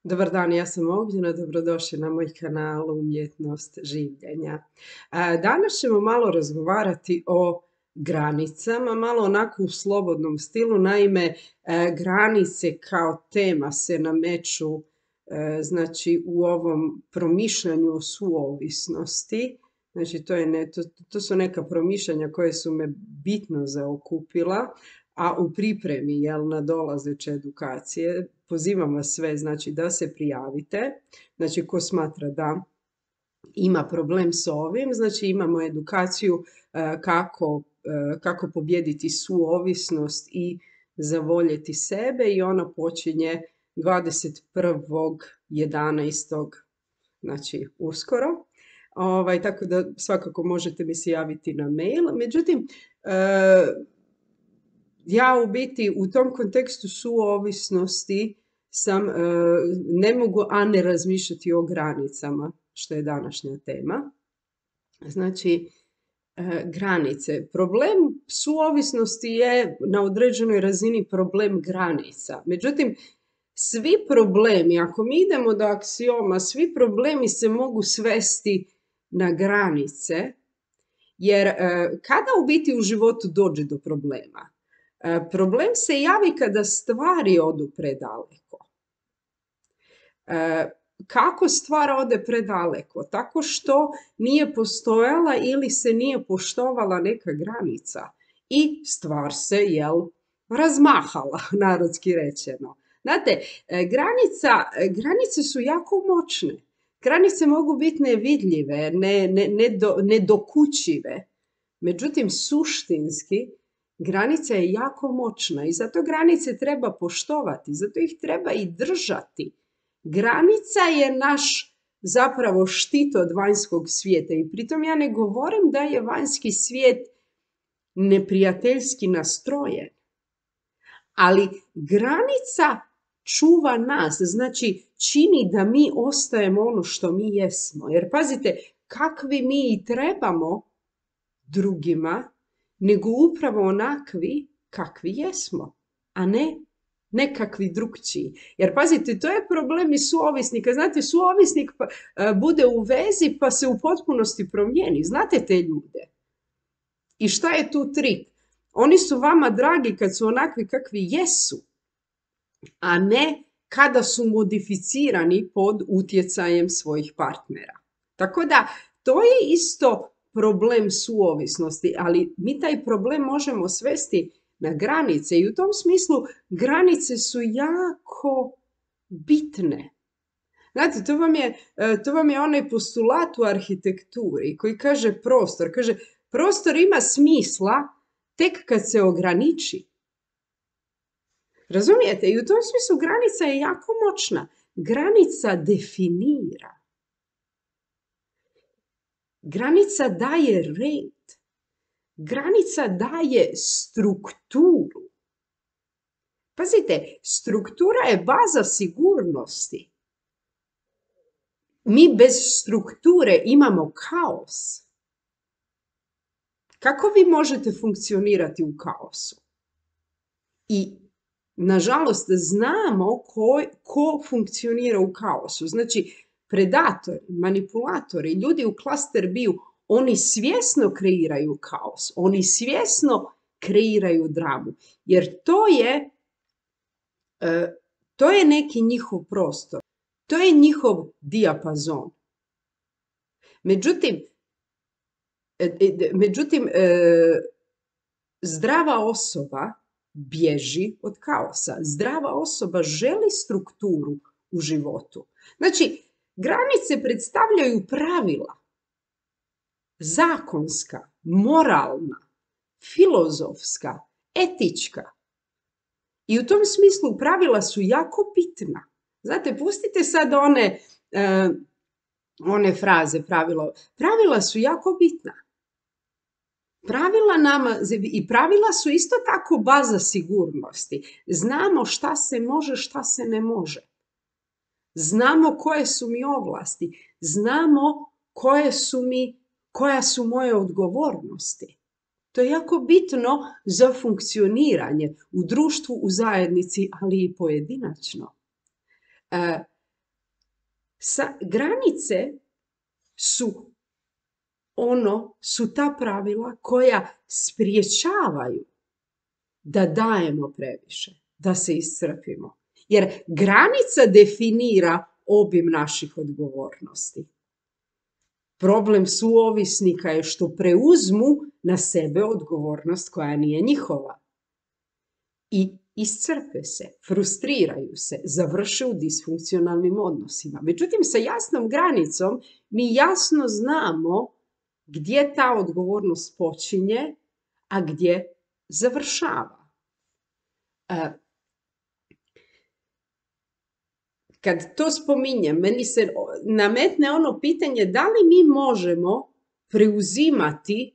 Dobar dan, ja sam Ognjena, dobrodošli na moj kanal Umjetnost življenja. Danas ćemo malo razgovarati o granicama, malo onako u slobodnom stilu. Naime, granice kao tema se nameću znači u ovom promišljanju o suovisnosti. Znači to su neka promišljanja koje su me bitno zaokupila, a u pripremi nadolazeće edukacije pozivam vas sve znači da se prijavite. Znači ko smatra da ima problem s ovim, znači imamo edukaciju kako pobijediti suovisnost i zavoljeti sebe i ona počinje 21.11. znači uskoro. Tako da svakako možete mi se javiti na mail. Međutim, ja u biti u tom kontekstu suovisnosti ne mogu, a ne razmišljati o granicama, što je današnja tema. Znači, granice. Problem suovisnosti je na određenoj razini problem granica. Međutim, svi problemi, ako mi idemo do aksioma, svi problemi se mogu svesti na granice, jer kada u biti u životu dođe do problema? Problem se javi kada stvari odu predaleko. Kako stvar ode predaleko? Tako što nije postojala ili se nije poštovala neka granica i stvar se, razmahala, narodski rečeno. Znate, granice su jako moćne. Granice mogu biti nevidljive, nedokučive. Međutim, suštinski, granica je jako moćna i zato granice treba poštovati, zato ih treba i držati. Granica je naš zapravo štit od vanjskog svijeta i pritom ja ne govorim da je vanjski svijet neprijateljski nastrojen, ali granica čuva nas, znači čini da mi ostajemo ono što mi jesmo. Jer pazite, kakvi mi i trebamo drugima, nego upravo onakvi kakvi jesmo, a ne nekakvi drugčiji. Jer pazite, to je problem i suovisnika. Znate, suovisnik bude u vezi pa se u potpunosti promijeni. Znate te ljude. I šta je tu trik? Oni su vama dragi kad su onakvi kakvi jesu, a ne kada su modificirani pod utjecajem svojih partnera. Tako da, to je isto problem suovisnosti, ali mi taj problem možemo svesti na granice i u tom smislu granice su jako bitne. Znate, to vam je onaj postulat u arhitekturi koji kaže prostor. Kaže, prostor ima smisla tek kad se ograniči. Razumijete? I u tom smislu granica je jako moćna. Granica definira. Granica daje red. Granica daje strukturu. Pazite, struktura je baza sigurnosti. Mi bez strukture imamo kaos. Kako vi možete funkcionirati u kaosu? I, nažalost, znamo ko funkcionira u kaosu. Znači, predatori, manipulatori, ljudi u klaster B-u, oni svjesno kreiraju kaos, oni svjesno kreiraju dramu, jer to je neki njihov prostor, to je njihov dijapazon. Međutim, zdrava osoba bježi od kaosa. Zdrava osoba želi strukturu u životu. Znači, granice predstavljaju pravila. Zakonska, moralna, filozofska, etička. I u tom smislu pravila su jako bitna. Znate, pustite sad one fraze, pravila su jako bitna. Pravila su isto tako baza sigurnosti. Znamo šta se može, šta se ne može. Znamo koje su mi ovlasti. Znamo koja su moje odgovornosti. To je jako bitno za funkcioniranje u društvu, u zajednici, ali i pojedinačno. Granice su su ta pravila koja spriječavaju da dajemo previše, da se iscrpimo. Jer granica definira obim naših odgovornosti. Problem suovisnika je što preuzmu na sebe odgovornost koja nije njihova. I iscrpe se, frustriraju se, završe u disfunkcionalnim odnosima. Međutim, sa jasnom granicom mi jasno znamo gdje ta odgovornost počinje, a gdje završava. Kad to spominjem, meni se nametne ono pitanje da li mi možemo preuzimati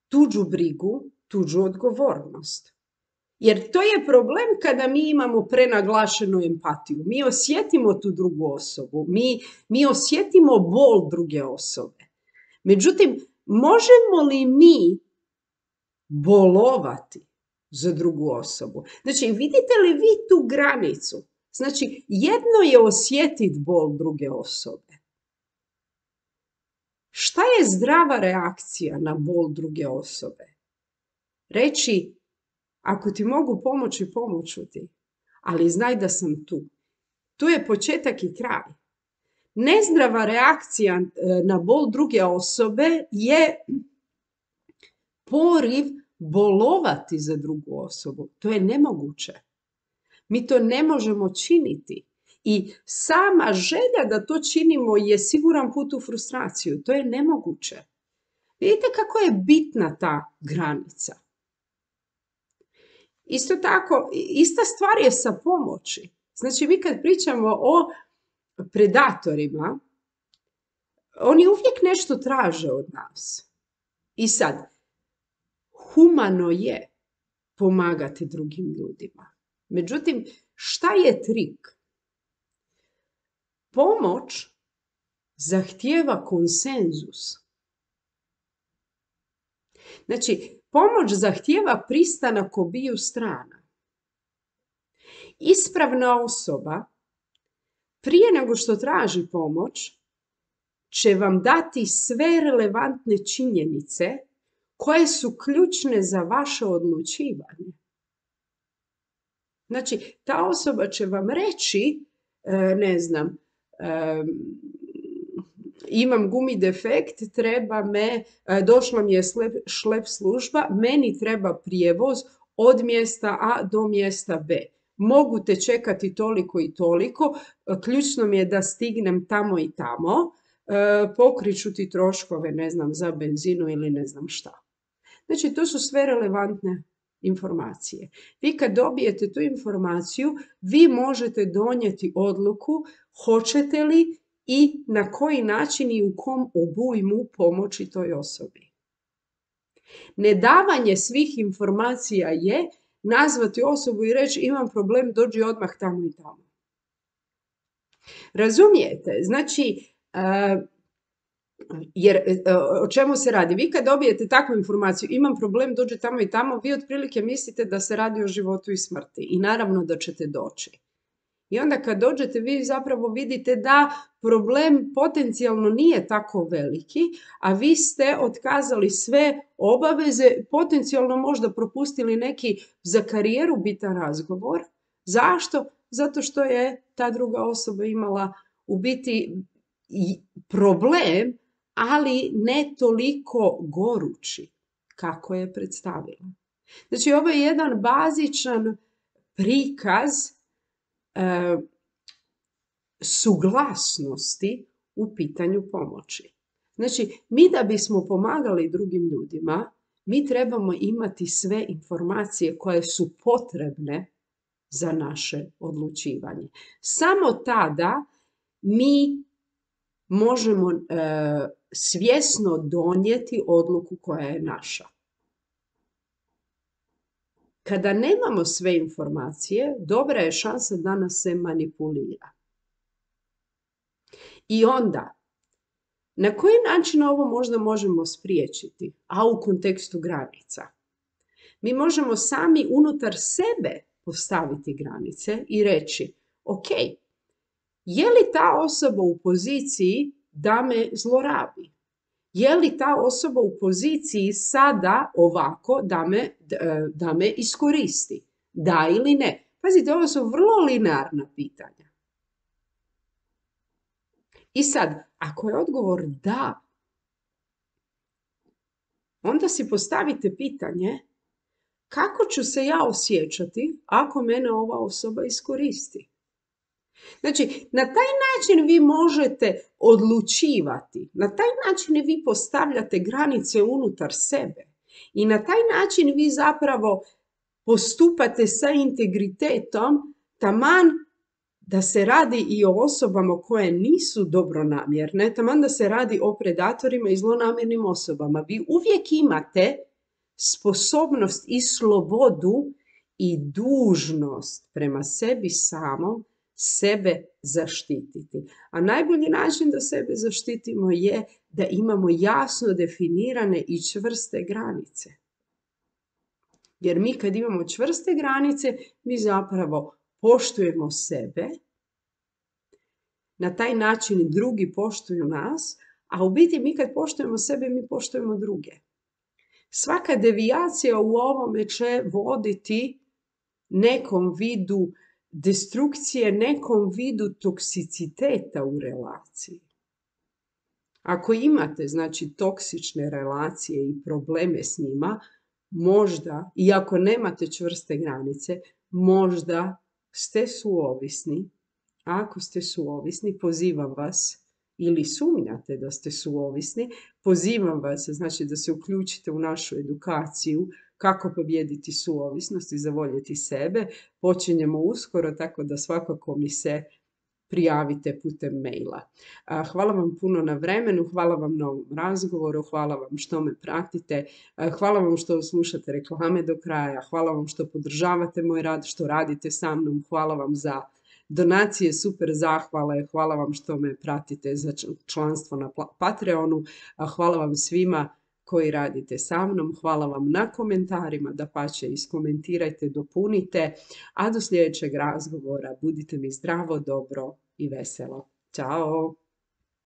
tuđu brigu, tuđu odgovornost. Jer to je problem kada mi imamo prenaglašenu empatiju. Mi osjetimo tu drugu osobu, mi osjetimo bol druge osobe. Međutim, možemo li mi bolovati za drugu osobu? Znači, vidite li vi tu granicu? Znači, jedno je osjetiti bol druge osobe. Šta je zdrava reakcija na bol druge osobe? Reći, ako ti mogu pomoći, pomoću ti, ali znaj da sam tu. Tu je početak i kraj. Nezdrava reakcija na bol druge osobe je poriv bolovati za drugu osobu. To je nemoguće. Mi to ne možemo činiti. I sama želja da to činimo je siguran put u frustraciju. To je nemoguće. Vidite kako je bitna ta granica. Isto tako, ista stvar je sa pomoći. Znači, mi kad pričamo o predatorima, oni uvijek nešto traže od nas. I sad, humano je pomagati drugim ljudima. Međutim, šta je trik? Pomoć zahtijeva konsenzus. Znači, pomoć zahtijeva pristanak obiju strana. Ispravna osoba, prije nego što traži pomoć, će vam dati sve relevantne činjenice koje su ključne za vaše odlučivanje. Znači, ta osoba će vam reći, ne znam, imam gumi defekt, došla mi je šlep služba, meni treba prijevoz od mjesta A do mjesta B. Mogu te čekati toliko i toliko, ključno mi je da stignem tamo i tamo, pokriću ti troškove, ne znam, za benzinu ili ne znam šta. Znači, to su sve relevantne informacije. Vi kad dobijete tu informaciju, vi možete donijeti odluku hoćete li i na koji način i u kom obujmu pomoći toj osobi. Nedavanje svih informacija je nazvati osobu i reći imam problem, dođi odmah tamo i tamo. Razumijete? Znači, jer o čemu se radi? Vi kad dobijete takvu informaciju, imam problem, dođi tamo i tamo, vi otprilike mislite da se radi o životu i smrti. I naravno da ćete doći. I onda kad dođete, vi zapravo vidite da problem potencijalno nije tako veliki, a vi ste otkazali sve obaveze, potencijalno možda propustili neki za karijeru bitan razgovor. Zašto? Zato što je ta druga osoba imala u biti problem, ali ne toliko gorući kako je predstavila. Znači, ovo je jedan bazičan prikaz suglasnosti u pitanju pomoći. Znači, mi da bismo pomagali drugim ljudima, mi trebamo imati sve informacije koje su potrebne za naše odlučivanje. Samo tada mi možemo svjesno donijeti odluku koja je naša. Kada nemamo sve informacije, dobra je šansa da nas se manipulira. I onda, na koji način ovo možda možemo spriječiti, a u kontekstu granica? Mi možemo sami unutar sebe postaviti granice i reći, ok, je li ta osoba u poziciji da me zlorabi? Je li ta osoba u poziciji sada ovako da me iskoristi? Da ili ne? Pazite, ovo su vrlo linearna pitanja. I sad, ako je odgovor da, onda si postavite pitanje kako ću se ja osjećati ako mene ova osoba iskoristi? Znači, na taj način vi možete odlučivati, na taj način vi postavljate granice unutar sebe i na taj način vi zapravo postupate sa integritetom, taman da se radi i o osobama koje nisu dobronamjerne, taman da se radi o predatorima i zlonamjernim osobama. Vi uvijek imate sposobnost i slobodu i dužnost prema sebi samom sebe zaštititi. A najbolji način da sebe zaštitimo je da imamo jasno definirane i čvrste granice. Jer mi kad imamo čvrste granice, mi zapravo poštujemo sebe, na taj način drugi poštuju nas, a u biti mi kad poštujemo sebe, mi poštujemo druge. Svaka devijacija u ovome će voditi nekom vidu destrukcije, nekom vidu toksiciteta u relaciji. Ako imate, znači, toksične relacije i probleme s njima, možda, i ako nemate čvrste granice, možda ste suovisni. A ako ste suovisni, pozivam vas, ili sumnjate da ste suovisni, pozivam vas, znači, da se uključite u našu edukaciju kako pobijediti suovisnost i zavoljeti sebe. Počinjemo uskoro, tako da svakako mi se prijavite putem maila. Hvala vam puno na vremenu, hvala vam na ovom razgovoru, hvala vam što me pratite, hvala vam što slušate reklame do kraja, hvala vam što podržavate moj rad, što radite sa mnom, hvala vam za donacije, super zahvale, hvala vam što me pratite za članstvo na Patreonu, hvala vam svima koji radite sa mnom, hvala vam na komentarima, dapače iskomentirajte, dopunite, a do sljedećeg razgovora budite mi zdravo, dobro i veselo. Ćao!